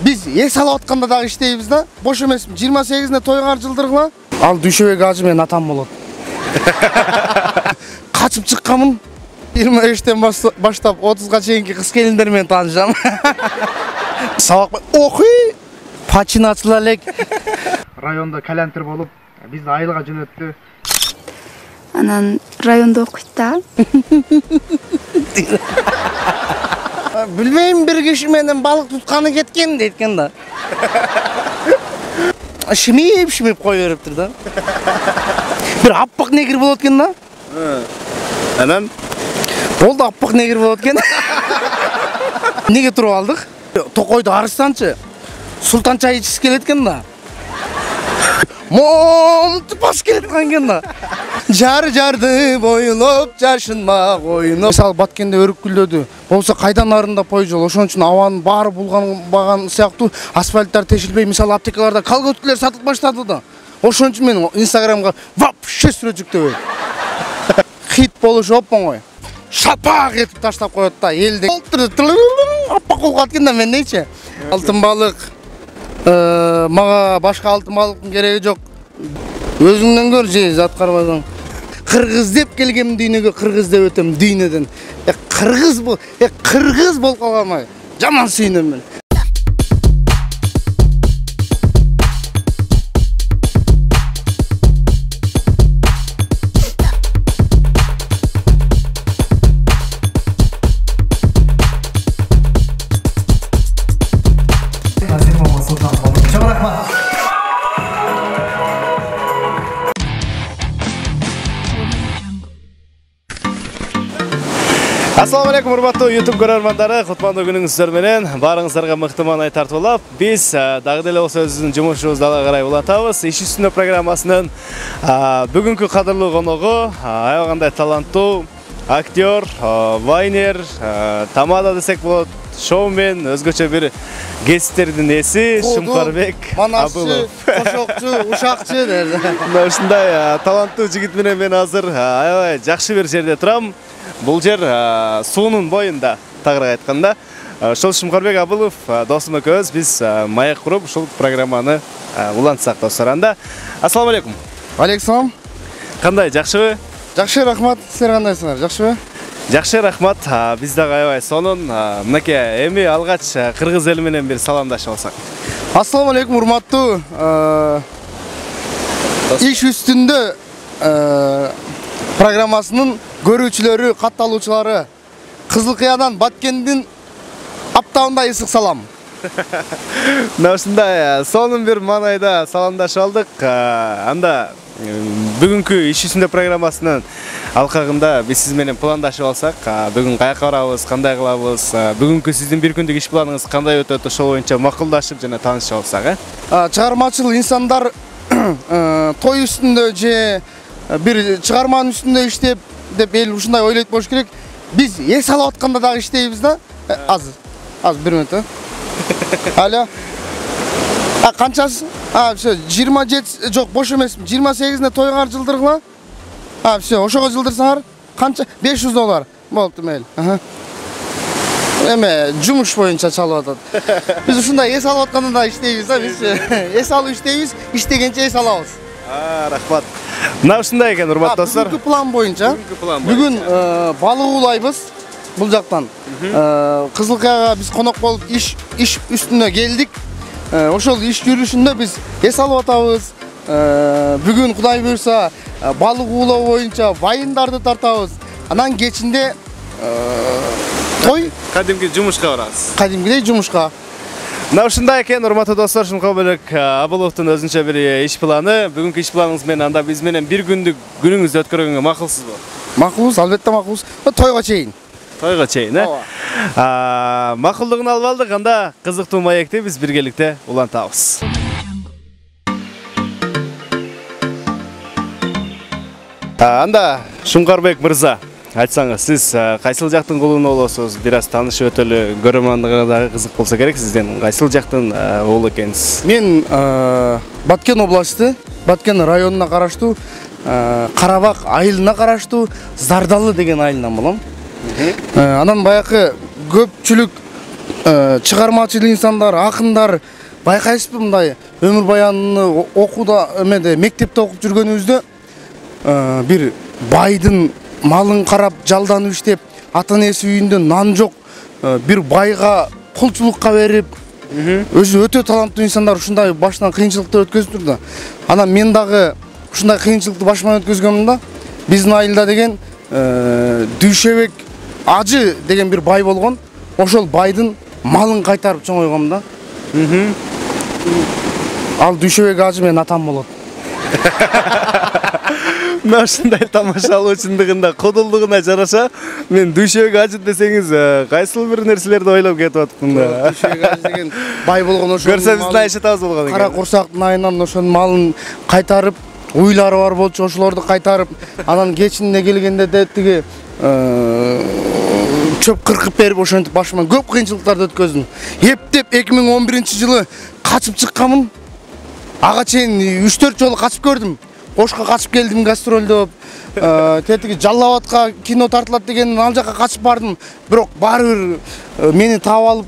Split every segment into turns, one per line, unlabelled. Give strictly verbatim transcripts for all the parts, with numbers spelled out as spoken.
Биз эс алып атканда дагы иштейбиз да. Бош эмесмин. жыйырма сегизинде тойгар жылдыргыла. Ал Дүйшөбек ажы менен атам болот. Качып чыкканмын. жыйырма үчтөн баштап отузга чейинки кыз келиндер менен таанышам. Сабак окуй. Пачин ачыла элек. Районда калянтыр болуп, бизди айылга жөнөттү.
Анан районда окуйт да.
Билбейм, бир киши менен балык тутканы кеткен дейт экен да. Шимип, шимип кой бериптир да. Бир аппак негир болот экен да.
Анан
болду, аппак негир болот экен. Неге туруп алдык? Токойду арыстанчы султан чай ичкиси келет экен да. Монтуп бас келет экен да. Жар жарды бойлоп жашынма койнуп. Мисалы Баткенде өрүкүлдөдү. Болсо кайдан арында пой жол. Ошон үчүн абанын баары булганбаган сыяктуу асфальттар тешилбей, мисалы аптекаларда колготкалар сатылып баштады да. Ошон үчүн мен Инстаграмга вообще сүрөт жүктөбөйм. Хит болушу оп-оңой. Шапак этип таштап коет да. Элде аппак болуп калат экен да, мен дейчи. Алтын балык. Мага башка алтын балыктын кереги жок. Өзүңдөн көр же зат карбасаң. Кыргыз деп келгем дүйнөгө, кыргыз деп өтөм дүйнөдөн. Э кыргыз бул, э кыргыз болуп калгам. Жаман сүйүнөм мен.
Assalamu alaikum, урматтуу YouTube көрөрмандары, кутмандуу күнүңүздөр менен баарыңыздарга мыкты маанай тартуулап, биз дагы деле болсо өзүбүздүн жумушубузду ала карай улантабыз. Иш үстүндө программасынын бүгүнкү кадырлуу коногу аябай кандай таланттуу актер, вайнер, тамада десек болот, шоумен, өзгөчө бир кесиптердин ээси Шумкарбек
Абылов. Кошокчу, ушакчы дер.
Мына ушундай таланттуу жигит менен мен азыр аябай жакшы бир жерде турам. Бул жер суунун боюнда, тагыраак айтканда. Ошол Шумкарбек Абылов досум экөөбүз биз маек куруп ушул программаны улантсак достор. Анда ассаламу алейкум.
Алейкум.
Кандай, жакшыбы?
Жакшы, рахмат. Силер кандайсыңар? Жакшыбы?
Жакшы, рахмат. Биз дагы аябай сонун. Мынакей эми алгач кыргыз эли менен бир саламдашып алсак.
Ассаламу алейкум, урматтуу иш үстүндө программасынын көрүүчүлөрү, катталуучулары, Кызыл Кыядан Баткендин аптабында ысык салам.
Мына ушундай сонун бир маанайда саламдашып алдык. Анда бүгүнкү иш үстүндө программасынын алкагында биз сиз менен пландашып алсак, бүгүн каяка барабыз, кандай кылабыз, бүгүнкү сиздин бир күндүк иш планыңыз кандай өтөт, ошол боюнча макулдашып жана таанышып алсак, э?
Чыгармачыл инсандар той үстүндө же бир чыгарманын үстүндө иштеп деп эл ушундай ойлойт болуш керек. Биз эс алып атканда дагы иштейбиз да. Азыр. Азыр бир мүнөт. Алло. А канчасы? А, всё, жыйырма жети, жок, бош эмесмин. жыйырма сегизинде тойгар жылдыргыла. А, всё, ошого жылдырсаңар, канча? беш жүз доллар. Болду мейл. Аха. Эме, жумуш боюнча чалып атат. Биз ушундай эс алып атканда да иштейбиз да, биз. Эс алып иштейбиз, иштегенче эс алабыз.
А, рахмат. Мына ушундай экен, урматтуу достор.
Бүгүнкү план боюнча, бүгүн балык уулайбыз бул жактан. Кызыл Кыяга биз конок болуп иш иш үстүнө келдик. Ошол иш жүрүшүндө биз эс алып атабыз. Бүгүн Кудай буйрса балык уулоо боюнча вайындарды тартабыз. Анан кечинде той,
кадимки жумушка барабыз.
Кадимгидей жумушка.
Мына ушундай экен, урматтуу достор, Шумкарбек Абыловдун өзүнчө бир иш планы. Бүгүнкү иш планыңыз менен анда биз менен бир күндүк күнүңүздү өткөргөнгө макулсузбу?
Макулбуз, албетте макулбуз. Тойго чейин.
Тойго чейин, э? Ооба. Макулдугун алып алдык, анда кызыктуу маекти биз биргеликте улантабыз. Анда Шумкарбек мырза, айтсаңыз, сиз кайсыл жактын кулуна болосуз? Бир аз таанышып өтөлү, көрөрмандыга дагы кызык болсо керек сизден. Кайсыл жактын уулу экенсиз?
Мен Баткен областы, Баткен районуна караштуу, Карабак айылына караштуу Зардалы деген айылынан болом. Анан баякы көпчүлүк чыгармачыл инсандар, акындар байкайсызбы мындай өмүр баянын окууда эмеде мектепте окуп жүргөнүбүздө бир байдын малын карап жалданып иштеп, ата энеси үйүндө нан жок, бир байга кулчулукка берип, өзү өтө таланттуу инсандар ушундай башынан кыйынчылыктар өткөзүптүр да. Анан мен дагы ушундай кыйынчылыкты башыман өткөзгөмүн да. Биздин айылда деген Дүйшөбек ажы деген бир бай болгон. Ошол байдын малын кайтарып чоңойгом да. Ал Дүйшөбек ажы менин атам болот.
Мына ушундай тамашалуу чындыгында кодулдугуна жараша мен Дүйшөбек ажы десеңиз кайсыл бир нерселерди ойлоп кетип атыптым да.
Дүйшөбек ажы деген бай болгон, ошол
көрсө биздин айшатабыз болгон экен.
Кара курсактын айынан ошонун малын кайтарып, уйлары бар болчу, ошолорду кайтарып, анан кечинде келгенде де тиги чөп кыркып берип, ошентип башыман көп кыйынчылыктарды өткөздүм. Эптеп эки миң он биринчи жылы качып чыкканмын. Ага чейин үч төрт жолу качып көрдүм. Ошко качып келдим гастролдоп. Тетиги Жалал Абадка кино тартылат деген ал жака качып бардым. Бирок баары бир мени таап алып,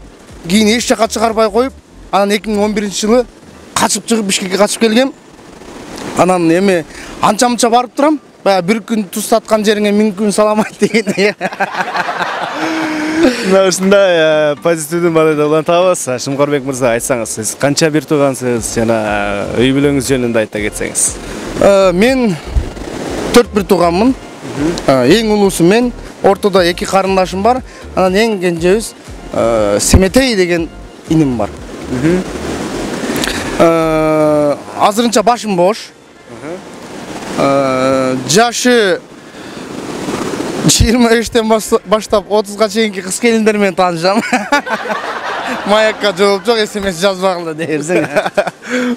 кийин эч жака чыгарбай коюп, анан эки миң он биринчи жылы качып чыгып Бишкекке качып келгем. Анан эми анча-мынча барып турам. Баягы бир күн туз саткан жериңе миң күн салам айт деген.
Мына ушундай позитивдүү модельде улантабыз. Шымкарбек мырза, айтсаңыз, сиз канча бир туугансыз жана үй бүлөңүз жөнүндө айта кетсеңиз.
Мен төрт бир тууганмын. Эң улуусу мен, ортодо эки карындашым бар. Анан эң кенжебиз Семетей деген иним бар. Азырынча башым бош. Жашы жыйырма бештен баштап отузга чейинки кыз келиндер менен таанышам. Маякка жооп жок, смс жазбагыла дерсең.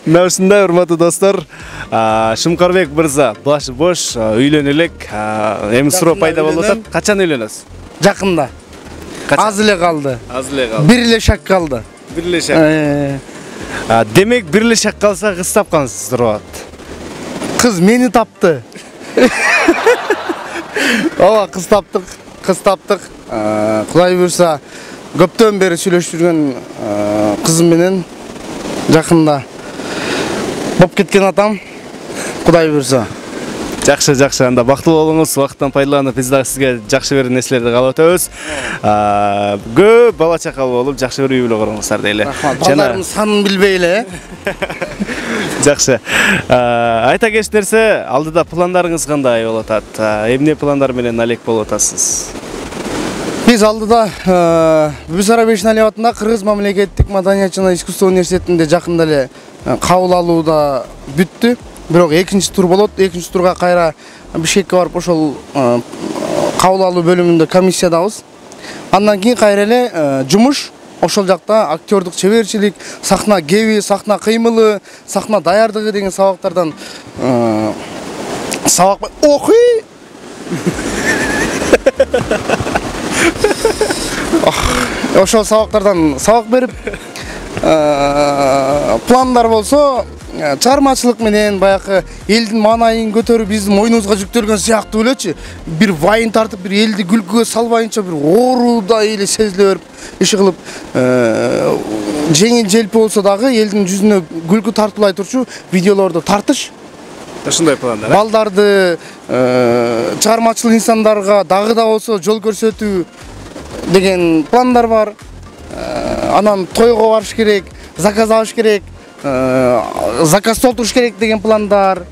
Мына ушундай урматтуу достор, Шымкарбек мырза башы бош, үйлөнө элек. Эми суроо пайда болуп атат. Качан үйлөнөсүз?
Жакында. Аз эле калды.
Аз эле калды.
Бир эле шак калды.
Бир эле шак. Демек бир эле шак калса кыз тапкансыз турат.
Кыз мени тапты. Ооба, кыз таптык, кыз таптык. Кудай буйрса, көптөн бери сүйлөшүп жүргөн кызым менен жакында болуп кеткен атам. Кудай буйрса.
Жакшы, жакшы. Анда бактылуу болуңуз, убакыттан пайдаланып, биз дагы сизге жакшы бир нерселерди каалап өтөбүз. Көп бала чакалуу болуп, жакшы бир үй бүлө куруңуздар дейли.
Балдарымдын санын билбей эле.
Жакшы. Айта кетчү нерсе, алдыда пландарыңыз кандай болуп атат? Эмне пландар менен алек болуп атасыз?
Биз алдыда Бүсара Бешнали атында Кыргыз мамлекеттик маданият жана искусство университетинде жакында эле кабыл алууда бүттү. Бирок экинчи тур болот. Экинчи турга кайра Бишкекке барып ошол кабыл алуу бөлүмүндө комиссиядабыз. Андан кийин кайра эле жумуш ошол жакта актёрдук чеберчилик, сахна кеби, сахна кыймылы, сахна даярдыгы деген сабактардан сабак окуй. Ошол сабактардан сабак берип, пландар болсо чыгармачылык менен баягы элдин маанайын көтөрүп биздин мойнубузга жүктөлгөн сыяктуу элечи. Бир вайын тартып, бир элди күлкүгө салбайынча бир оорудай эле сезиле берип, иш кылып, жеңил желпи болсо дагы элдин жүзүнө күлкү тартуулай турчу видеолорду тартыш.
Ушундай пландар.
Балдарды чыгармачыл инсандарга дагы да болсо жол көрсөтүү деген пландар бар. Анан тойго барыш керек, заказ алыш керек. Заказ толтуруш керек деген пландар,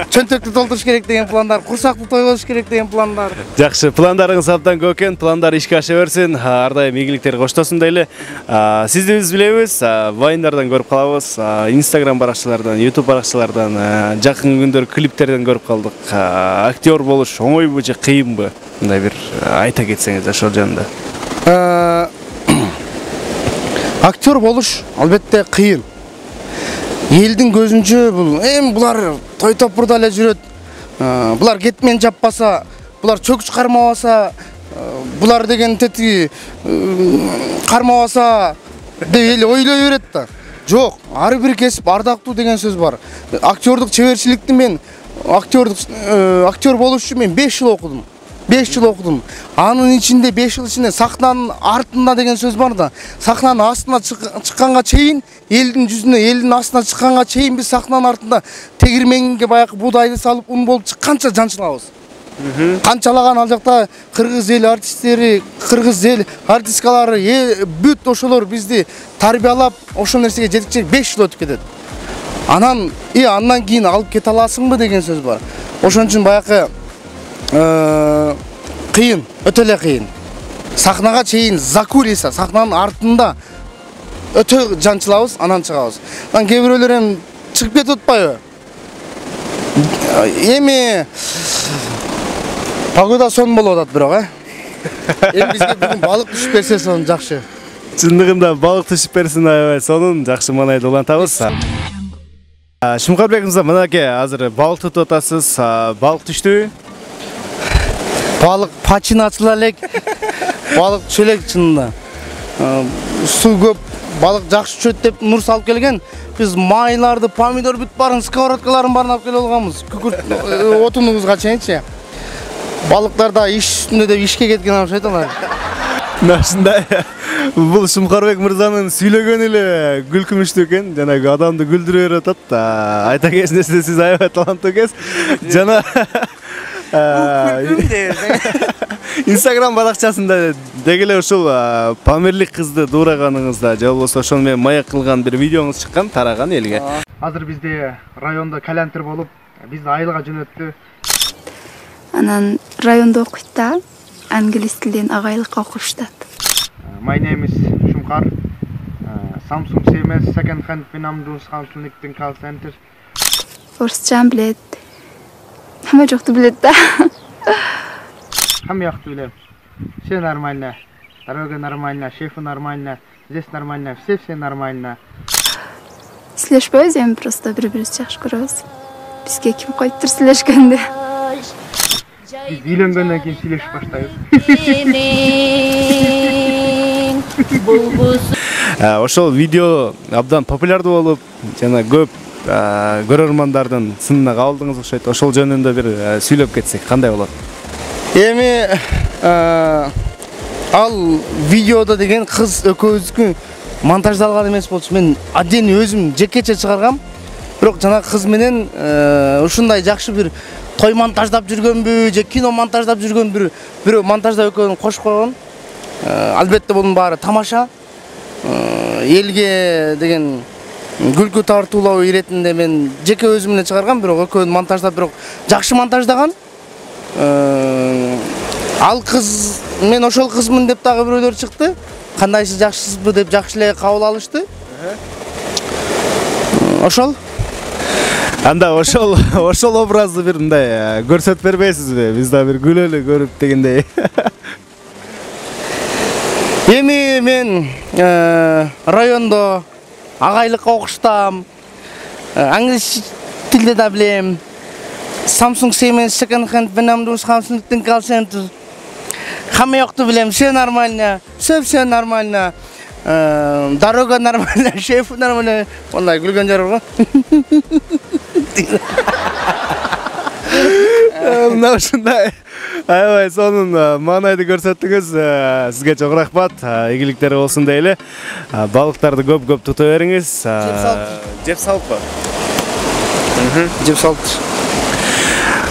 чөнтөктү толтуруш керек деген пландар, курсактуу той болуш керек деген пландар.
Жакшы, пландарыңыз абдан көп экен, пландар ишке аша берсин, ар дайым ийгиликтер коштосун дейли. Сизди биз билебиз, вайндардан көрүп калабыз, Instagram баракчалардан, YouTube баракчалардан, жакын күндөр клиптерден көрүп калдык. Актер болуш оңойбу же кыйынбы? Мындай бир айта кетсеңиз ошол жөнүндө.
Актер болуш албетте кыйын. Элдин көзүнчө бул эми булар той топурда эле жүрөт. Булар кетмен жаппаса, булар чөкүч кармабаса, булар деген тети кармабаса деп эле ойлой берет да. Жок, ар бир кесип ардактуу деген сөз бар. Актёрдук чеберчиликти мен актёрдук актер болуш үчүн мен беш жыл окудум. беш жыл окудум. Анын ичинде беш жыл ичинде сахнанын артында деген сөз бар да. Сахнанын астына чыкканга чейин, элдин жүзүнө, элдин астына чыкканга чейин биз сахнанын артында тегирменге баягы буудайды салып, ун болуп чыкканча жанчылабыз. Канчалаган ал жакта кыргыз эл артисттери, кыргыз эл артисткалары, бүт ошолор бизди тарбиялап, ошол нерсеге жеткичек беш жыл өтүп кетет. Анан, и андан кийин алып кете аласыңбы деген сөз бар. Ошон үчүн баягы кыйын, өтө эле кыйын. Сахнага чейин закулиса, сахнанын артында өтө жанчылабыз, анан чыгабыз. Анан кээ бирөөлөр эми чыгып кетип атпайбы? Эми погода сон болуп атат бирок, э? Эми бизге бүгүн балык түшүп берсе сон жакшы.
Чындыгында балык түшүп берсин, аябай сонун жакшы маанайды улантабыз. Шумкарбек мырза, мынакей азыр балык тутуп атасыз. Балык түштүбү?
Балык пачин ачыла элек. Балык түшө элек чынында. Суу көп, балык жакшы түшөт деп Нур салып келген. Биз майларды, помидор бүт барын, сковородкаларын барын алып келип алганбыз. Күкүрт отунубузга чейинчи. Балыктар да иш үстүндө деп ишке кеткен окшойт алар.
Ушундай. Бул Шумкарбек мырзанын сүйлөгөнү эле күлкүмүштүү экен, жанагы адамды күлдүрө берип атат. Айта кетсеңиз, сиз аябай таланттуу экенсиз. Жана Instagram баракчасында дегеле ушул Памирлик кызды дуураганыңызда, же болбосо ошону менен маяк кылган бир видеоңуз чыккан, тараган элге.
Азыр бизде райондо калянтыр болуп, бизди айылга жөнөттү.
Анан райондо окуйт да, англис тилден агайлыкка окуштат.
My name is Shumkar. Samsung C M S second hand Vinamdus Counseling Call Center.
Орусчан билет. Хамма жокту билет да.
Хамма жокту билем. Все нормально. Дорога нормально, шефы нормально, здесь нормально, все-все нормально.
Сүйлөшпөйбүз эми, просто бири-бирибизди жакшы көрөбүз. Бизге ким койттур сүйлөшкөндө.
Биз үйлөнгөндөн кийин сүйлөшүп баштайбыз.
Ошол видео абдан популярдуу болуп, жана көп көрөрмандардын сынына кабылдыңыз окшойт. Ошол жөнүндө бир сүйлөп кетсек кандай болот?
Эми ал видеодо деген кыз экөөбүздүкү монтаждалган эмес болчу. Мен отдельно өзүм жекече чыгаргам. Бирок жана кыз менен ушундай жакшы бир той монтаждап жүргөнбү, же кино монтаждап жүргөн бир бирөө монтаждап экөөнү кошуп койгон. Албетте bunun баары тамаша. Элге деген күлкү тартуулоо иретинде мен жеке өзүм менен чыгаргам, бирок экөөнү монтаждап, бирок жакшы монтаждаган. Ал кыз, мен ошол кызмын деп дагы бирөөлөр чыкты. Кандайсыз, жакшысызбы деп жакшы эле кабыл алышты. Ошол.
Анда ошол ошол образды бир мындай көрсөтүп бербейсизби? Биз да бир күлөлү көрүп дегендей. Эми
мен райондо агайлыкка окуштам. Англис тилде да билем. Samsung C M S second hand Vinamdus Counseling Call Center. Хамма жокту билем, все нормально, все-все нормально. Дорога нормально, шеф нормально. Ондай күлгөн жер бар го.
Мына ушундай аябай сонун маанайды көрсөттүңүз. Сизге чоң рахмат. Ийгиликтер болсун дейли. Балыктарды көп-көп тута бериңиз. Жеп салыппы?
Жеп салып.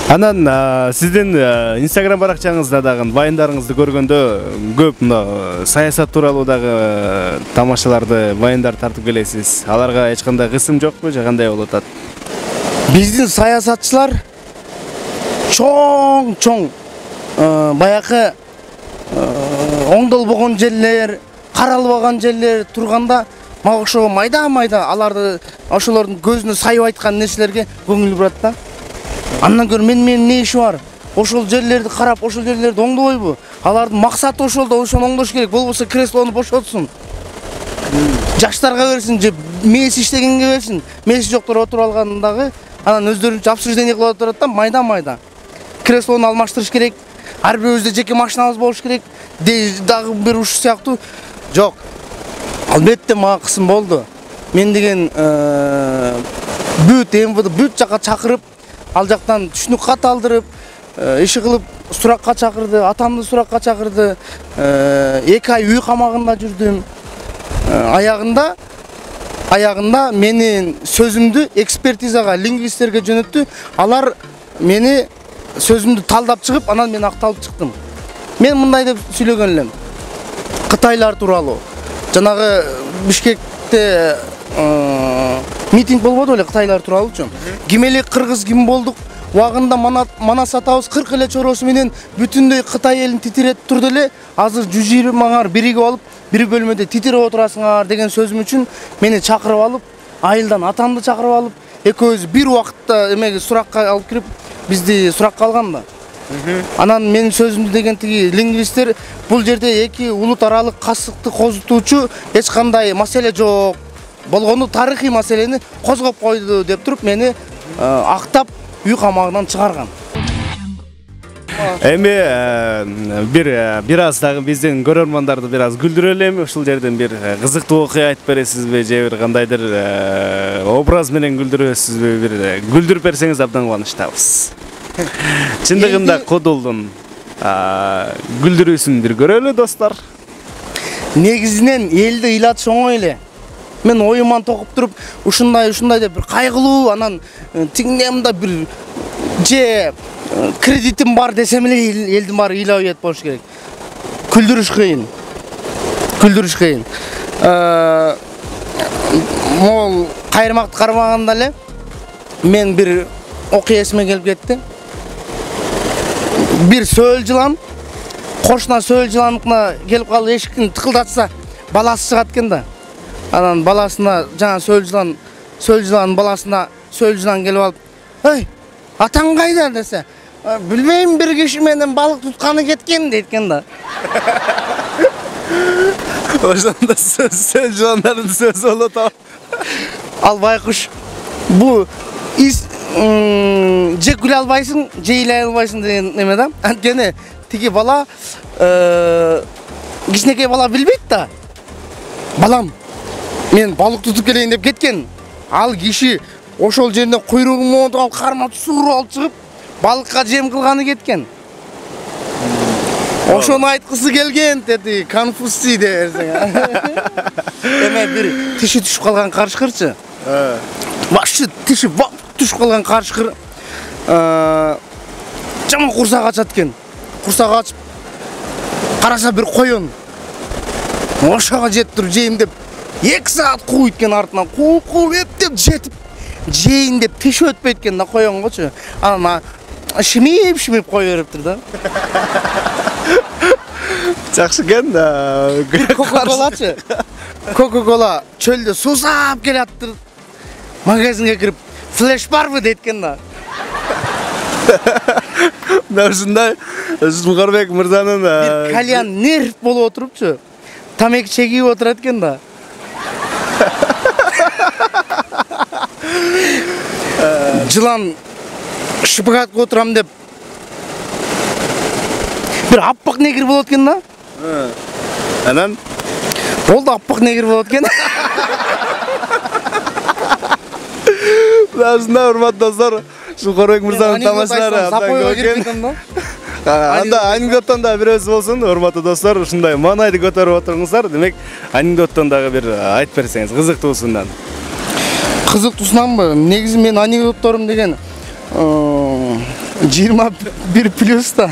Анан сиздин Instagram баракчаңызда дагы вайндарыңызды көргөндө көп мына саясат тууралуу дагы тамашаларды, вайндар тартып келесиз. Аларга эч кандай кысым жокпу, же кандай болуп атат?
Биздин саясатчылар чоң-чоң баягы оңдолбогон жерлер, каралбаган жерлер турганда мага ошо майда-майда аларды ошолордун көзүнө сайып айткан нерселерге көңүл бурат да. Андан көрө мен менин не иши бар? Ошол жерлерди карап, ошол жерлерди оңдобойбу? Алардын максаты ошол да, ошону оңдош керек. Болбосо креслону бошотсун. Жаштарга берсин, же мээси иштегенге берсин. Мээси жоктор отуруп алгандагы, анан өздөрүнчө обсуждение кылып отурат да, майда-майда. Креслону алмаштырыш керек. Ар бирөөбүздө жеке машинабыз болуш керек. Дагы бир уш сыяктуу. Жок. Албетте мага кысым болду. Мен деген бүт эм вэ дэ бүт жака чакырып, ал жактан түшүнүк кат алдырып, иши кылып суракка чакырды, атамды суракка чакырды. эки ай үй камагында жүрдүм. Аягында аягында менин сөзүмдү экспертизага лингвисттерге жөнөттү. Алар мени сөзүмдү талдап чыгып, анан мен акталып чыктым. Мен мындай деп сүйлөгөн элем. Кытайлар тууралуу. Жанагы Бишкекте митинг болбоду эле Кытайлар тууралуучу. Ким эле кыргыз ким болдук? Убагында Манас атабыз кырк эле чоросу менен бүтүндөй Кытай элин титиретип турду эле. Азыр жүз жыйырмаңар биригип алып, бир бөлмөдө титирип отурасыңар деген сөзүм үчүн мени чакырып алып, айылдан атамды чакырып алып, экөөбүз бир убакытта эмеге суракка алып кирип, бизди суракка алган да. Анан менин сөзүмдү деген тиги лингвисттер бул жерде эки улут аралык касыкты козутуучу эч кандай маселе жок. Болгону тарыхый маселени козгоп койду деп туруп мени актап үй камагынан чыгарган.
Эми бир бир аз дагы биздин көрөрмандарды бир аз күлдүрөлү эми ушул жерден бир кызыктуу окуя айтып бересизби же бир кандайдыр образ менен күлдүрөсүзбү, бир күлдүрүп берсеңиз абдан кубанычтабыз. Чындыгында Кодулдун күлдүрүүсүн бир көрөлү достор.
Негизинен элди ыйлатыш оңой эле. Мен оюман токуп туруп, ушундай ушундай деп бир кайгылуу, анан тиңдемде бир же кредитим бар десем эле элдин баары ыйлап ийет болуш керек. Күлдүрүш кыйын. Күлдүрүш кыйын. Могул кайырмакты кармаганда эле мен бир окуя эсиме келип кетти. Бир сөөл жылан кошуна сөөл жыланыкына келип калып эшиктин тыкылдатса, баласы чыгат экен да. Анан баласына жана сөөл жылан, сөөл жыланын баласына сөөл жылан келип алып, "Ой, атаң кайда?" десе, "Билбейм, бир киши менен балык тутканы кеткен" дейт экен да.
Ошондо сөөл жыландардын сөзү болот ал.
Ал байкуш бу же күлө албайсың, же ыйлай албайсың деген неме да. Анткени тиги бала кичинекей бала билбейт да. Балам, мен балык тутуп келейин деп кеткен. Ал киши ошол жеринде куйругун монтуп алып, кармап сууруп алып чыгып, балыкка жем кылганы кеткен. Ошону айткысы келген деди, Конфуций деп берсең. Эме бир тиши түшүп калган карышкырчы. Башы тиши түшүп калган карышкыр жаман курсак ачат экен. Курсак ачып караса бир коён. Ошого жетип туруп жейм деп эки саат кууйт экен артынан. Кууп кууп эптеп жетип жейин деп тиши өтпөйт экен да коёнгочу. Анан шимип шимип кой бериптир да.
Жакшы экен да.
Кока-колачы. Кока-кола чөлдө суусап келаптыр. Магазинге кирип, "Флеш барбы?" дейт экен да.
Да ушундай Жумгарбек мырзанын
бир кальян нерв болуп отурупчу. Тамеки чегип отурат экен да. Жылан шпагатка отурам деп бир аппак негир болот экен да.
Анан
болду, аппак негир болот экен.
Ушундай урматтуу достор, Жумгарбек мырзанын тамашалары абдан көп экен. Анда анекдоттон да бирөөсү болсун, урматтуу достор, ушундай маанайды көтөрүп отуруңуздар. Демек, анекдоттон дагы бир айтып берсеңиз, кызыктуусунан.
Кызыктуусунанбы? Негизи мен анекдотторум деген жыйырма бир плюс да.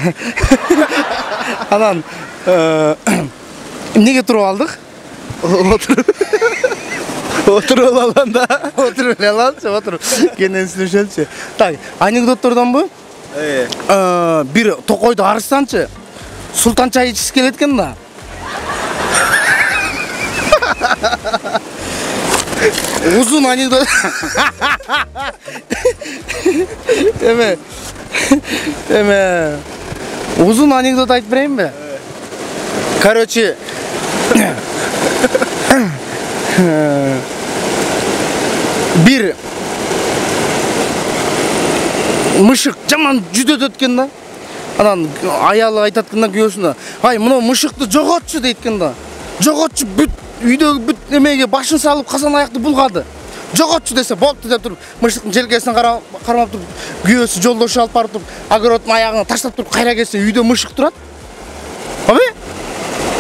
Анан эмнеге туруп алдык?
Отуруп алганда,
отуруп эле алалычы, отуруп. Кенен сүйлөшөлүчү. Так, анекдоттордонбу? Бир токойду арыстанчы султан чай ичкиси келет экен да. Узун анекдот. Эме. Эме. Узун анекдот айтып берейинби? Короче, бир мышык жаман жүдөт экен да. Анан аялы айтат экен да күйөөсүнө, "Ай, мына мышыкты жоготчу" дейт экен да. Жоготчу бүт үйдөгү бүт эмеге башын салып казан аякты булгады. жоготчу десе болупту деп туруп мыштыктын желкесине кармап туруп күйөөсү жолдошу алып барып туруп огороддун аягына таштап туруп кайра келсе үйдө мышык турат. Абы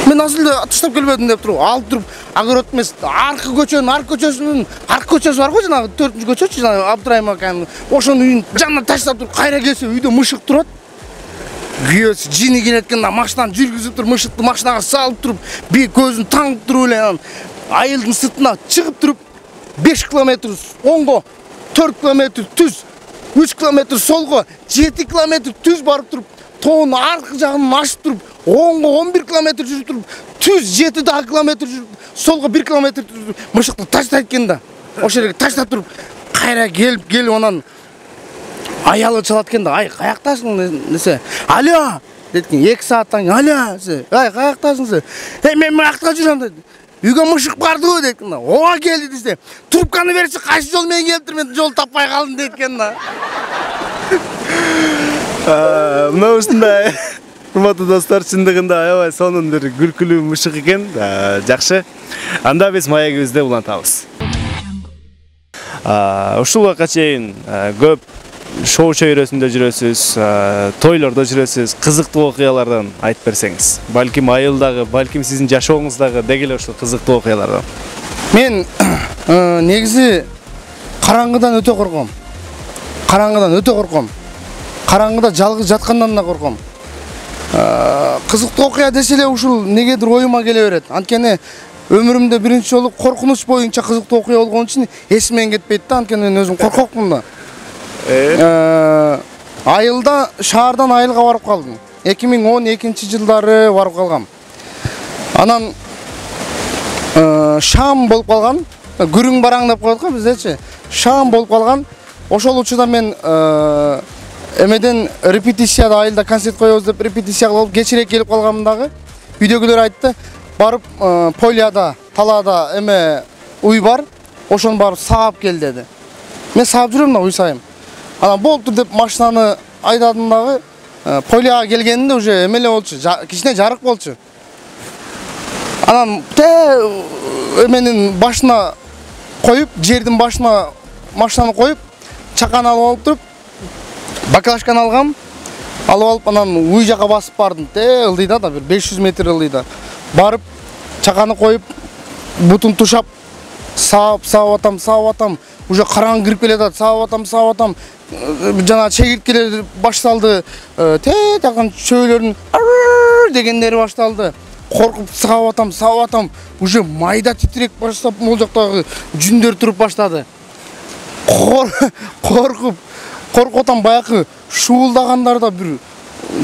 мен азыр эле таштап келбедим деп туруп алып туруп огород эмес аркы көчөнүн аркы көчөсүнүн аркы көчөсү бар го жанагы төртүнчү көчөчү жанагы Абдырайым аканын ошонун үйүнүн жанына таштап туруп кайра келсе үйдө мышык турат. Күйөөсү жини келет экен да машинаны жүргүзүп туруп мышыкты машинага салып туруп бир көзүн таңып туруп эле анан айылдын сыртына чыгып туруп беш километр оңго, төрт километр түз, үч километр солго, жети километр түз барып туруп тоонун аркы жагын ашып туруп оңго он бир километр жүрүп туруп түз жети дагы километр жүрүп солго бир километр мышыкты таштайт экен да. Ошол жерге таштап туруп кайра келип келип анан аялы чалат экен да. Ай, каяктасың десе. Алло дейт экен. эки сааттан кийин алло десе. Ай, каяктасың десе. Эй, мен мынакта жүрөм дейт. Үйгө мышык бардыбы дейт экен да. Ооба келди десе. Трубканы берчи, кайсы жол менен келиптир, мен жол таппай калдым дейт экен да.
Мына ушундай урматтуу достор, чындыгында аябай сонун бир күлкүлүү мышык экен. Жакшы. Анда биз маегибизди улантабыз. Ушул убакка чейин көп шоу чөйрөсүндө жүрөсүз, тойлордо жүрөсүз, кызыктуу окуялардан айтып берсеңиз. Балким айылдагы, балким сиздин жашооңуздагы деги эле ушул кызыктуу окуялардан.
Мен негизи караңгыдан өтө корком. Караңгыдан өтө корком. Караңгыда жалгыз жаткандан да корком. Кызыктуу окуя десе эле ушул негедир оюма келе берет. Анткени өмүрүмдө биринчи жолу коркунуч боюнча кызыктуу окуя болгон үчүн эсимден кетпейт да. Анткени мен өзүм коркокмун да. Айылда шаардан айылга барып калдым. эки миң он экинчи жылдары барып калгам. Анан шам болуп калган. Күрүң бараң деп коет го биздечи. Шам болуп калган. Ошол учурда мен эмеден репетицияда айылда концерт коебуз деп репетиция кылып кечирээк келип калгам дагы. Үйдөгүлөр айтты, барып поляда, талаада эме уй бар, ошону барып саап кел деди. Мен саап жүрөм да уй сайым. Анан болду деп машинаны айдадым дагы. Поляга келгенде уже эмеле болчу, кичине жарык болчу. Анан те эменин башына коюп, жердин башына машинаны коюп, чаканы алып алып туруп, баклажканы алгам. Алып алып анан уй жака басып бардым. Те ылдыйда да бир беш жүз метр ылдыйда. Барып чаканы коюп, бутун тушап, саап, саап атам, саап атам. Уже караңгы кирип келатат, саап атам, саап атам. Жана чегирткелер башталды. Те такан чөйлөрдүн дегендери башталды. Коркуп саап атам, саап атам. Уже майда титирек баштап, могул жактагы жүндөр туруп баштады. Коркуп, коркуп атам, баягы шуулдагандарда бир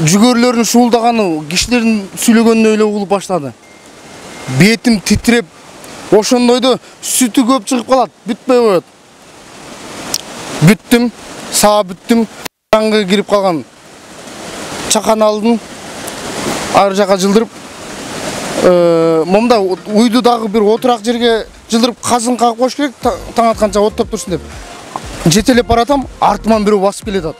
жүгөрлөрдүн шуулдаганы кишилердин сүйлөгөнүнө эле угулуп баштады. Бетим титиреп, ошондойдо сүтү көп чыгып калат, бүтпөй коет. Бүттүм, саа бүттүм, караңгы кирип калган. Чаканы алдым, ар жака жылдырып, момда уйду дагы бир отурак жерге жылдырып казын кагып коюш керек, таң атканча оттоп турсун деп. Жетелеп баратам, артыман бирөө басып келатат.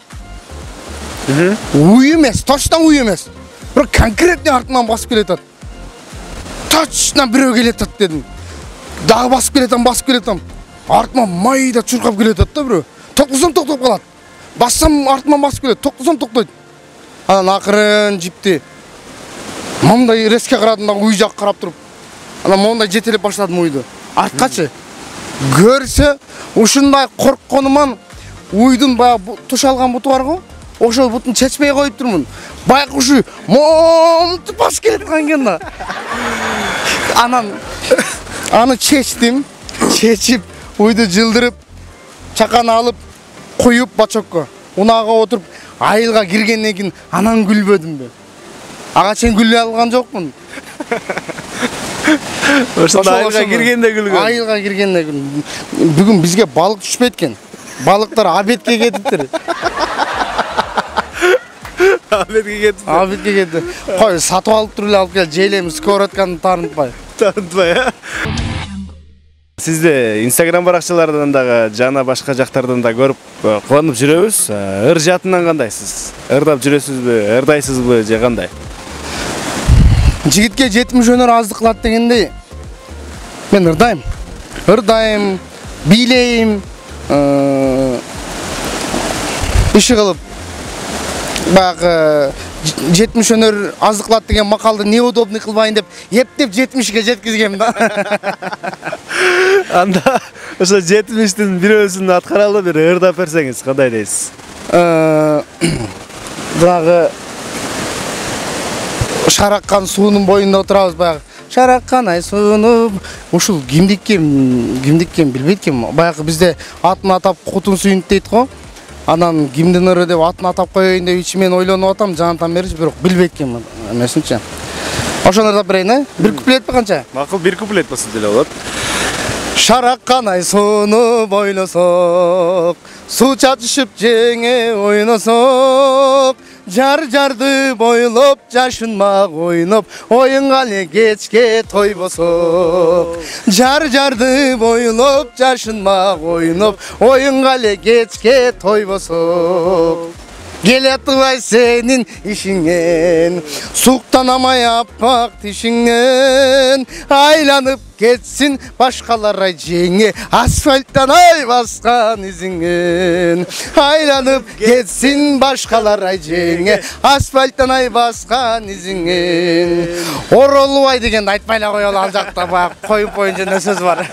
Уй эмес, точно уй эмес. Бирок конкретный артыман басып келатат. Точно бирөө келатат дедим. Дагы басып келатам, басып келатам. Артыман майда чуркап келатат да бирөө. Токтосом токтоп калат. Бассам артыман басып келет, токтосом токтойт. Анан акырын жипти. Момдай резке карадым да уй жакка карап туруп. Анан момдай жетелеп баштадым уйду. Арткачы. Көрсө, ушундай коркконуман уйдун баягы тушалган буту бар го. Ошол бутун чечпей коюп турмун. Баягы ушу момтуп басып келаткан экен да. Анан аны чечтим, чечип, уйду жылдырып, чаканы алып, коюп бачокко. Унаага отуруп, айылга киргенден кийин анан күлбөдүмбү? Ага чейин күлө алган жокмун.
Ошондо айылга киргенде күлгөн.
Айылга киргенде күлгөн. Бүгүн бизге балык түшпөйт экен. Балыктар абетке кетиптир.
Абетке кетти.
Абетке кетти. Кой, сатып алып туруп эле алып кел, жейлейм, скоротканы таарынтпай.
Таарынтпай, э? Сизди Instagram баракчалардан дагы жана башка жактардан да көрүп кубанып жүрөбүз. Ыр жаатынан кандайсыз? Ырдап жүрөсүзбү, ырдайсызбы же кандай?
Жигитке жетимиш өнөр аздык кылат дегендей. Мен ырдайм. Ырдайм, бийлейм, иши кылып баягы жетимиш өнөр аздыклат деген макалды неудобный кылбайын деп эптеп жетимишке жеткизгем да.
Анда ошо жетимиштин бирөөсүн аткаралы бир ырдап берсеңиз кандай дейсиз?
Баягы шараккан суунун боюнда отурабыз баягы. Шараккан ай сууну ушул кимдиккен, кимдиккен билбейт ким. Баягы бизде атын атап кутун сүйүнт дейт го. Анан кимдин ыры деп атын атап коеюн деп ичимен ойлонуп атам, жанатан берчи, бирок билбейт ким эмесинчи. Ошону ырдап берейин, э? Бир куплетпи канча?
Макул, бир куплет болсо деле болот.
Шараккан ай сууну бойлосок, суу чачышып жеңе ойносок, жар жарды бойлоп жашынмак ойноп, оюнга эле кечке тойбосок. Жар жарды бойлоп жашынмак ойноп, оюнга эле кечке тойбосок. Келе атпай сенин ишиңен, суктанамай аппак тишиңен, айланып кетсин башкалар ай жеңе, асфальттан ай баскан изиңен. Айланып кетсин башкалар ай жеңе, асфальттан ай баскан изиңен. Оролубай дегенди айтпай эле коелу, ал жакта баягы коюп боюнча эмне сөз бар.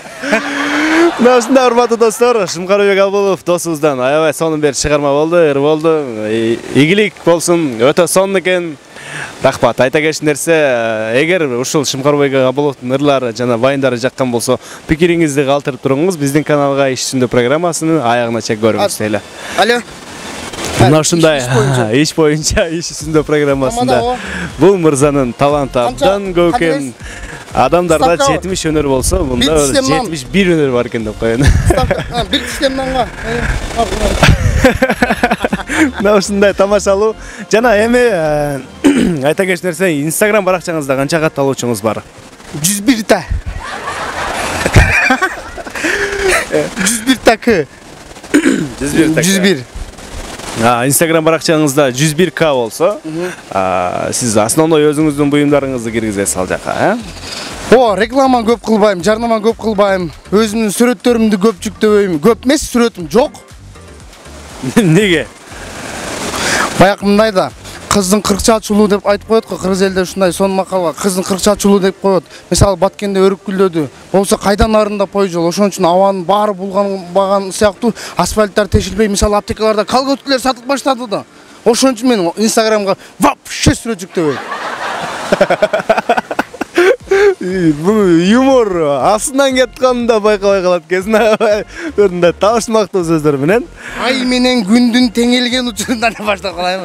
Мына ушундай урматтуу достор, Шымкарбек Абулов досубуздан аябай сонун бир чыгарма болду, ыр болду. Игилик болсун, өтө сонун экен. Рахмат. Айта кетчү нерсе, эгер ушул Шымкарбек Абуловдун ырлары жана байындары жаккан болсо, пикириңизди калтырып туруңуз, биздин каналга иш үстүндө программасынын аягына чейин көрүңүз эле.
Алло.
Мына ушундай иш боюнча иш үстүндө программасында бул мырзанын таланты абдан көп экен. Адамдарда жетимиш өнөр болсо, мында жетимиш бир өнөр бар экен деп коеюн.
Бир системанга.
Мына ушундай тамашалуу жана эми айта кетчү нерсе, Instagram баракчаңызда канча катталуучуңуз бар?
жүз бир та. жүз бир такы. жүз бир.
Instagram баракчаңызда жүз бир ка болсо, сиз основной өзүңүздүн буюмдарыңызды киргизесиз ал жака, э?
О, реклама көп кылбайм, жарнама көп кылбайм. Өзүмдүн сүрөттөрүмдү көп жүктөбөйм. Көп эмес, сүрөтүм жок.
Неге?
Баягы мындай да, кыздын кырк чачулуу деп айтып коет го, кыргыз элде ушундай сонун макал бар. Кыздын кырк чачулуу деп коет. Мисалы Баткенде өрүк гүлдөдү. Болсо кайдан арында пой жол. Ошон үчүн абанын баары булган сыяктуу асфальттар тешилбей, мисалы аптекаларда колготкалар сатып баштады да. Ошон үчүн мен Instagramга вообще сүрөт жүктөбөйм.
Бул юмор асынан кетканын да байкабай калат экенсиң. Мындай табышмактуу сөздөр менен.
Ай менен күндүн теңелген учурунда эле баштап калайм.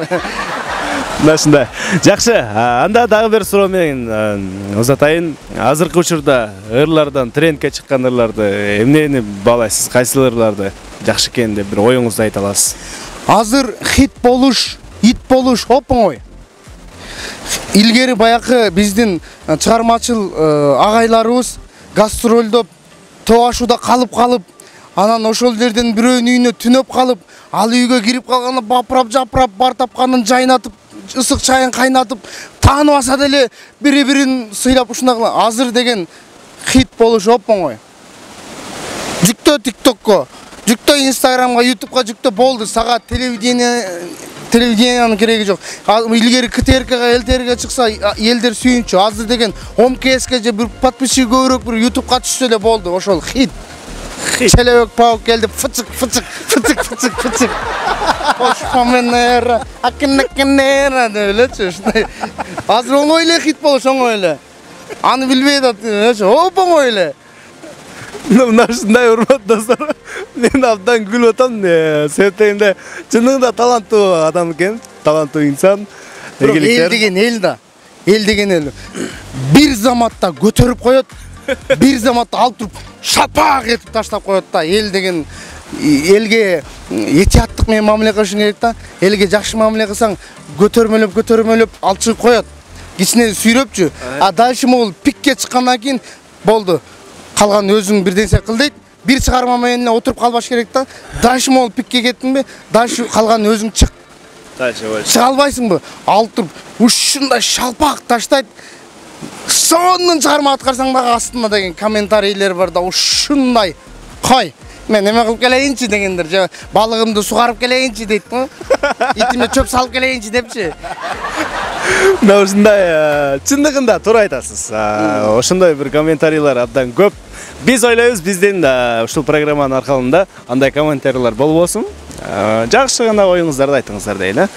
Мына ушундай. Жакшы, анда дагы бир суроо менен узатайын. Азыркы учурда ырлардан, трендке чыккан ырларды эмнени баалайсыз? Кайсы ырларды жакшы экен деп бир оюңузду айта аласыз?
Азыр хит болуш, ит болуш оп-оңой. Илгери баягы биздин чыгармачыл агайларыбыз гастролдоп, тоо ашууда калып калып, анан ошол жерден бирөөнүн үйүнө түнөп калып, ал үйгө кирип калганда бапырап жапырап, бар тапканын жайнатып, ысык чайын кайнатып, тааныбаса деле бири-бирин сыйлап ушундай кылган. Азыр деген хит болуш оп-оңой. Жүктө TikTokко, жүктө Instagramга, YouTubeга жүктө болду. Сага телевидение телевидениянын кереги жок. Илгери КТРКга, ЛТРге чыкса элдер сүйүнчү. Азыр деген ОМКСке же бир подписчик көбүрөөк бир YouTubeга түшсө эле болду. Ошол хит. Челебек паук келди, фычык фычык фычык фычык фычык. Ошпаменера, акыннакенера деп элечи ушундай. Азыр оңой эле хит болуш, оңой эле. Аны билбей атат, оп-оңой эле.
Мына ушундай урматтуу достор, мен абдан күлүп атам. Себептегенде чынында таланттуу адам экен, таланттуу инсан.
Эл деген эл да, эл деген эл. Бир заматта көтөрүп коет, бир заматта алып туруп шапак этип таштап коет да. Эл деген элге этияттык менен мамиле кылышың керек да. Элге жакшы мамиле кылсаң, көтөрмөлөп, көтөрмөлөп алып чыгып коет. Кичине сүйрөпчү. А дальше могул пикке чыккандан кийин болду. Калган өзүң бир нерсе кыл дейт. Бир чыгарма менен эле отуруп калбаш керек да. Дальше могул пикке кеттиңби? Дальше калган өзүң чык.
Дальше болчу.
Чыга албайсыңбы? Алып туруп ушундай шалпак таштайт. Сонун чыгарма аткарсаң дагы астында деген комментарийлер бар да, ушундай. Кой, мен эме кылып келейинчи дегендер, же балыгымды сугарып келейинчи дейт го. Итиме чөп салып келейинчи депчи.
Мына ушундай чындыгында туура айтасыз. Ошондой бир комментарийлер абдан көп. Биз ойлойбуз биздин ушул программанын аркалында андай комментарийлер болбосун. Жакшы гана оюңуздарды айтыңыздар дейин, э?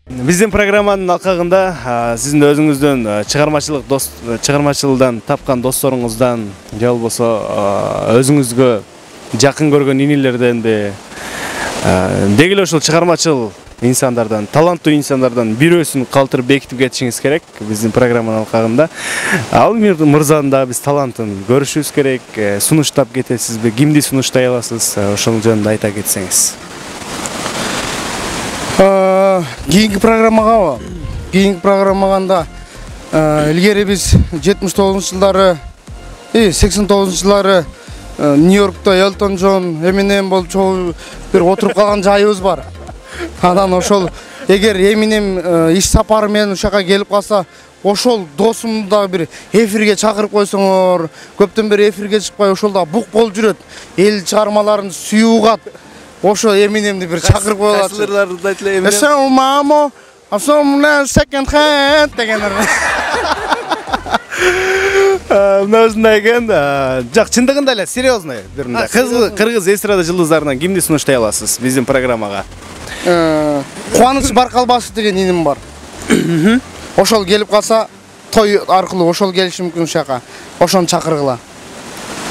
Биздин программанын алкагында сиздин өзүңүздөн чыгармачылык дос чыгармачылыгдан тапкан досторуңуздан же болбосо өзүңүзгө жакын көргөн инилерденби деги эле ушул чыгармачыл инсандардан, таланттуу инсандардан бирөөсүн калтырып бекитип кетишиңиз керек биздин программанын алкагында. Ал мырзанын да биз талантын көрүшүбүз керек. Сунуштап кетесизби? Кимди сунуштай аласыз? Ошол жөнүндө айта кетсеңиз.
Кийинки программага, кийинки программаганда илгери биз жетимиш тогузунчу жылдары, сексен тогузунчу жылдары Нью-Йоркто Элтон Джон, Эминем болуп чогуу бир отуруп калган жайыбыз бар. Анан ошол эгер Эминем иш сапары менен ушака келип калса, ошол досумду да бир эфирге чакырып койсоңор, көптөн бери эфирге чыкпай ошол да бук болуп жүрөт. Эл чыгармаларын сүйүп угат. Ошо Эминемди бир чакырып коелачы.
Кайсыларды айтылы Эминем?
Эсен мамо, асомна second hand дегендер.
Мына ушундай экен. Жак, чындыгында эле серьезный бир мындай кыргыз эстрада жылдыздарынан кимди сунуштай аласыз биздин программага?
Кубаныч Баркалбасов деген иним бар. Ошол келип калса, той аркылуу ошол келиши мүмкүн ушака. Ошону чакыргыла.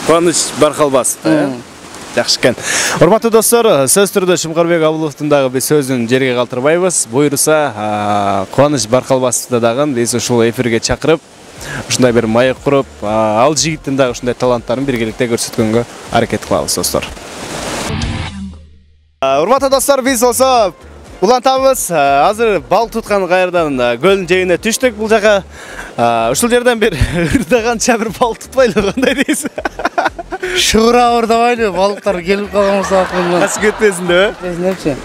Кубаныч Баркалбасов, э? Жакшы экен. Урматтуу достор, сөз түрдө Шумкарбек Абуловдун дагы биз сөзүн жерге калтырбайбыз. Буйруса, Кубаныч Баркалбасовду дагы биз ушул эфирге чакырып, ушундай бир маек куруп, ал жигиттин дагы ушундай таланттарын биргеликте көрсөткөнгө аракет кылабыз, достор. Урматтуу достор, биз болсо улантабыз. Азыр балык туткан кайрадан көлдүн жээгине түштүк. Бул жака ушул жерден бир ырдаганча бир балык тутпайлы, кандай дейсиз?
Шыгыра ырдабайлы, балыктар келип калган болсо акырында.
Качып кетпесин деп,
э?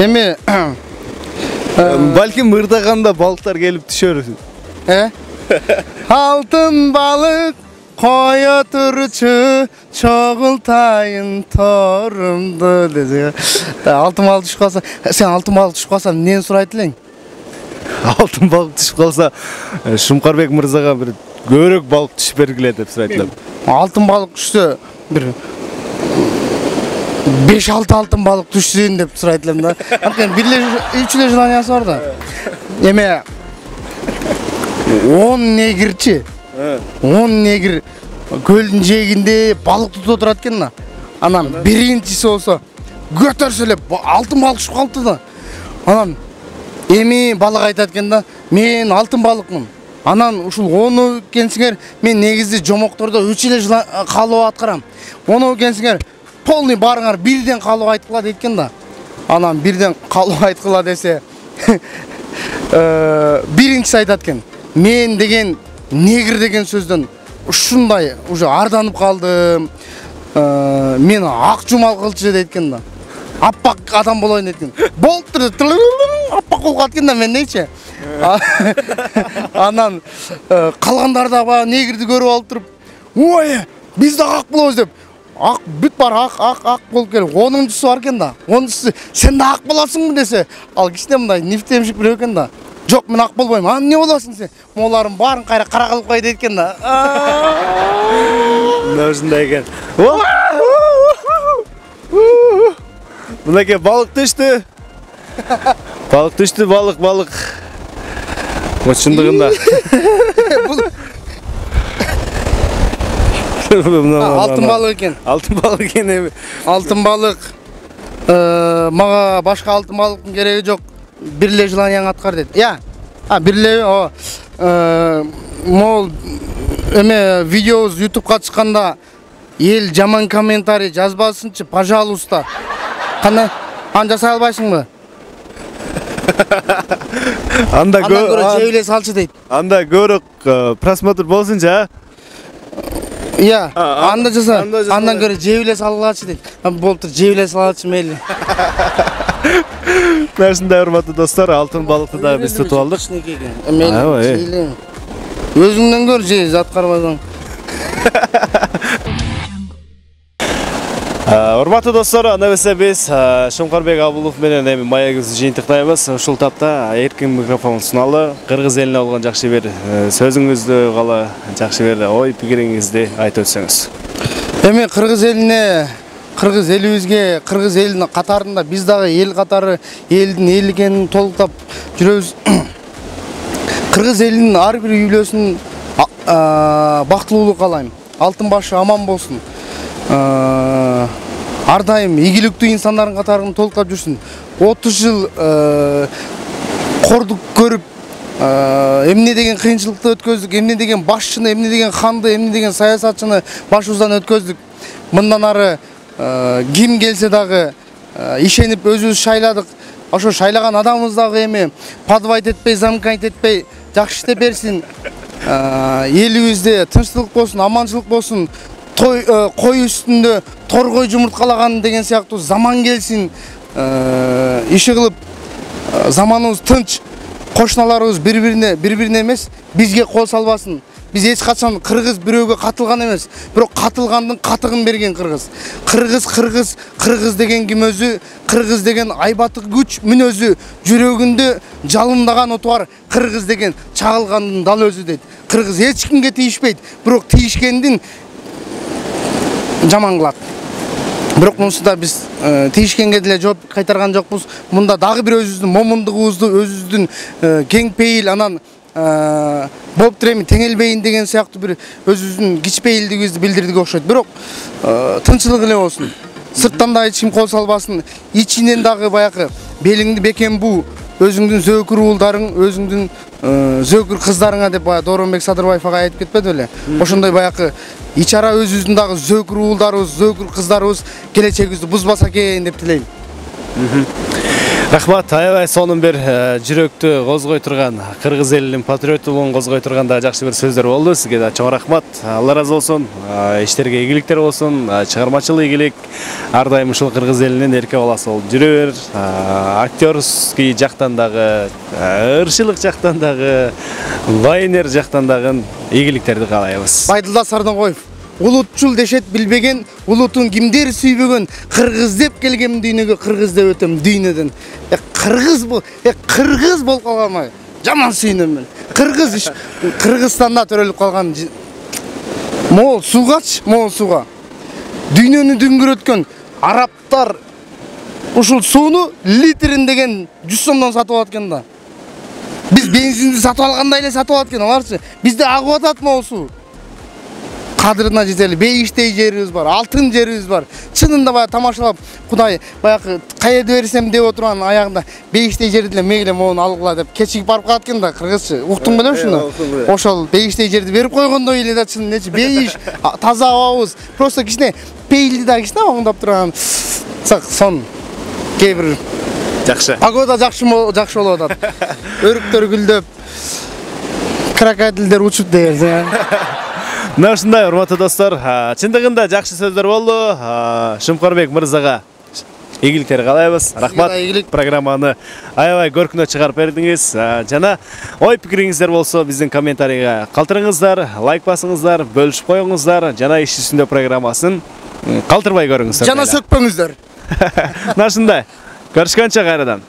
Эми
балким ырдаганда балыктар келип түшөр.
Э? Алтын балык кое турчу, чогултайын торумду деди. Алтын балык түшүп калса, сен алтын балык түшүп калса эмнени сурайт элең?
Алтын балык түшүп калса, Шумкарбек мырзага бир көбүрөөк балык түшүп бергиле деп сурайт элем.
Алтын балык түшсө, бир беш алты алтын балык түшсүн деп сурайт элем да. Анткени бир эле үч эле желаниясы бар да. Эме он негирчи. он негир көлдүн жээгинде балык тутуп отурат экен да. Анан биринчиси болсо көтөрсө эле алтын балык түшүп калыпты да. Анан эми балык айтат экен да, мен алтын балыкмын. Анан ушул ону келсеңер, мен негизи жомоктордо үч эле калуу аткарам. Ону келсеңер, полный барыңар бирден калуу айткыла дейт экен да. Анан бирден калуу айткыла десе, биринчиси айтат экен, мен деген негир деген сөздөн ушундай уже арданып калдым. Мен ак жумал кылчы дейт экен да. Аппак адам болоюн дейт экен. Болуптур, аппак болуп калат экен да мен дейчи. Анан калгандар да баягы негирди көрүп алып туруп, ой, биз да ак болобуз деп, ак бүт бар ак ак ак болуп келип, онунчусу бар экен да. онунчусу сен да ак болосуңбу десе, ал кичине мындай нифтемшик бирөө экен да. Жок, мен ак болбойм. А эмне болосуң сен? Моларын баарын кайра кара кылып кой дейт экен да.
Мына ушундай экен. Мынакей балык түштү. Балык түштү, балык, балык. Вот чындыгында.
Алтын балык экен.
Алтын балык экен эми.
Алтын балык. Мага башка алтын балыктын кереги жок. Бир эле желанияң аткар дейт. Я. А, бир эле, о, мол эме видеобуз ютубка чыкканда эл жаман комментарий жазбасынчы, пожалуйста. Кандай? Аны жасай албайсыңбы?
Анда
көрө жеп эле салчы дейт.
Анда көбүрөөк просмотр болсунчу, а?
Иә, анда жаса. Андан көрө жеп эле салгылачы дейт. Болуптур, жеп эле салачы мейли.
Ушундай урматтуу достор, алтын балыкты да биз тутуп алдык.
Өзүңдөн көр же, зат карабасаң.
Урматтуу достор, анда эмесе биз Шумкарбек Абулов менен эми маегибизди жыйынтыктайбыз. Ушул тапта эркин микрофон суналып, кыргыз элине болгон жакшы бир сөзүңүздү, кала жакшы бир ой пикириңизди айтып өтсөңүз.
Эми кыргыз элине, кыргыз элибизге, кыргыз элинин катарында биз дагы эл катары, элдин эл экенин толуктап жүрөбүз. Кыргыз элинин ар бир үйлөсүн бактылуулук каалайм. Алтын башы аман болсун. Ар дайым ийгиликтүү инсандардын катарын толуктап жүрсүн. отуз жыл кордук көрүп, эмне деген кыйынчылыкты өткөздүк, эмне деген башчыны, эмне деген ханды, эмне деген саясатчыны башыбыздан өткөздүк. Мындан ары ким келсе дагы ишенип өзүбүз шайладык. Ошо шайлаган адамыбыз дагы эми подвайт этпей, замкайт этпей жакшы иштеп берсин. Элибизде тынчтылык болсун, аманчылык болсун. Той кой үстүндө торгой жумурткалаган деген сыяктуу заман келсин. Иши кылып заманыбыз тынч, кошуналарыбыз бири-бирине, бири-бирине эмес, бизге кол салбасын. Биз эч качан кыргыз бирөөгө катылган эмес, бирок катылгандын катыгын берген кыргыз. Кыргыз кыргыз, кыргыз деген ким өзү, кыргыз деген айбаты күч мүнөзү, жүрөгүндө жалындаган оту бар, кыргыз деген чагылгандын дал өзү дейт. Кыргыз эч кимге тийишпейт, бирок тийишкендин жаман кылат. Бирок мунусуда биз тийишкенге деле жооп кайтарган жокпуз. Мында дагы бир өзүбүздүн момундугубузду, өзүбүздүн кең пейил, анан болуп турем теңелбейин деген сыяктуу бир өзүбүздүн кичпейилдигибизди билдирдик окшойт. Бирок тынчылык эле болсун. Сырттан да эч ким кол салбасын. Ичинен дагы баягы белиңди бекем буу, өзүңдүн зөөкүр уулдарың, өзүңдүн зөөкүр кыздарыңа деп баягы Дооронбек Садырбаев ага айтып кетпеди беле? Ошондой баягы ичара өзүбүздүн дагы зөөкүр уулдарыбыз, зөөкүр кыздарыбыз келечегибизди бузбаса экен деп тилейм.
Рахмат, аябай сонун бир жүрөктү козгой турган, кыргыз элинин патриоттуулугун козгой турган да жакшы бир сөздөр болду. Сизге да чоң рахмат. Алла разы болсун. Иштерге ийгиликтер болсун, чыгармачыл ийгилик. Ар дайым ушул кыргыз элинин эрке баласы болуп жүрө бер. Актерский жактан дагы, ырчылык жактан дагы, лайнер жактан дагы ийгиликтерди каалайбыз.
Байдылда Сардоңгоев улутчул дешет билбеген, улутун кимдер сүйбөгөн, кыргыз деп келгем дүйнөгө, кыргыз деп өтөм дүйнөдөн. Э кыргыз бул, э кыргыз болуп калганмай. Жаман сүйүнөм мен. Кыргыз Кыргызстанда төрөлүп калган мол суугач, мол сууга. Дүйнөнү дүңгүрөткөн арабтар ушул сууну литрин деген жүз сомдон сатып алат экен да. Биз бензинди сатып алгандай эле сатып алат экен аларчы. Бизде агып атат мол суу. Кадырына жетели, бейиштей жерибиз бар, алтын жерибиз бар. Чынында баягы тамашалап, Кудай баягы каерде берсем деп отурган аягында бейиштей жерди эле мейле моуну алгыла деп кечигип барып калат экен да кыргызчы. Уктуң беле ушуну? Ошол бейиштей жерди берип койгондой эле да чын нечи бейиш, таза абабыз. Просто кичине пейилди да кичине оңдоп турган. Сон кээ бир
жакшы.
Погода жакшы жакшы болуп атат. Өрүктөр гүлдөп, крокодилдер учуп деген.
Мына ушундай урматтуу достор, чындыгында жакшы сөздөр болду. Шумкарбек мырзага ийгиликтер каалайбыз. Рахмат. Программаны аябай көркүнө чыгарып бердиңиз. Жана ой пикириңиздер болсо биздин комментарийга калтырыңыздар, лайк басыңыздар, бөлүшүп коюңуздар. Жана иш үстүндө программасын калтырбай көрүңүздөр.
Жана сөкпөңүздөр.
Мына ушундай. Көрүшкөнчө кайрадан.